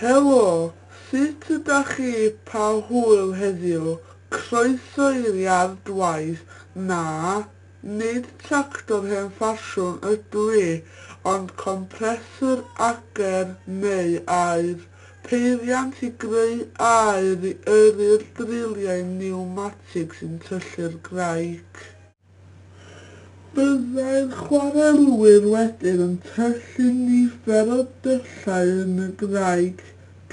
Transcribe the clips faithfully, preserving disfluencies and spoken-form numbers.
Helo, sut ydach chi pa hwyl heddiw? Croeso i'r iard waith. Na, nid tractor hen ffasiwn ydw i, ond compressor ager neu aer. Peiriant i greu aer i yrru'r driliau niwmatig sy'n tyllu'r graig. Byddai'r chwarelwyr wedyn yn tyllu nifer o dyllau yn y graig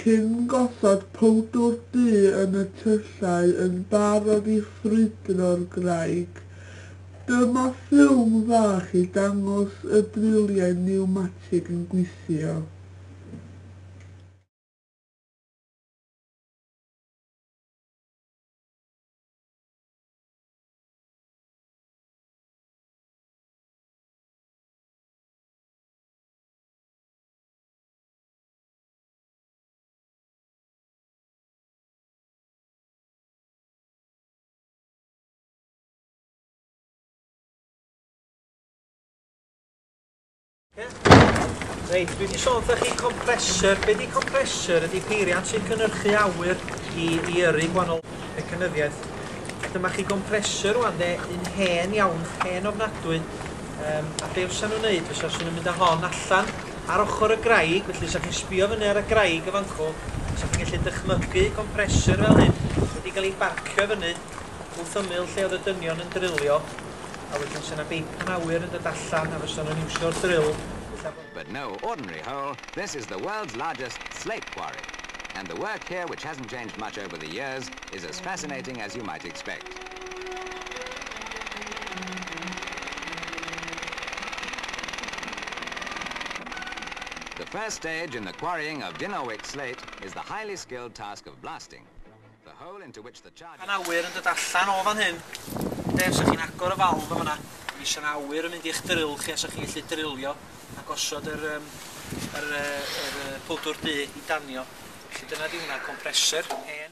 cyn gosod powdwr du yn y tyllau yn barod i ffrwydro'r graig. Dyma ffilm fach i dangos y driliau niwmatig yn gweithio. Reit, dwi wedi sôn wrthoch chi compressor. Be di compressor? Ydy peiriant sy'n cynhyrchu awyr i, i yrru gwahanol mecanyddiaeth. Dyma chi compressor rwan de, un hen iawn, hen ofnadwy. Um, a be fysa nhw'n neud? Fysa nhw'n mynd â hon allan ar ochr y graig, felly sa chi'n sbio fyny ar y graig y fancw, sa chi'n gallu dychmygu compressor fel hyn, wedi cael ei barcio fyny wrth ymyl lle oedd y dynion yn drilio, a wedyn sa 'na beipan awyr yn dod allan a fysa nhw'n iwsio'r drill. But no ordinary hole, this is the world's largest slate quarry. And the work here, which hasn't changed much over the years, is as fascinating as you might expect. The first stage in the quarrying of Dinorwic slate is the highly skilled task of blasting. The hole into which the charge... Pan awyr yn dod allan o fan hyn, de, os chi'n agor y falf yma, mi fysa 'na awyr yn mynd i'ch drill chi, a sa chi'n gallu drilio a gosod yr, um, yr, yr, yr powdwr du i danio. Felly dyna di hwnna, compressor. Hen.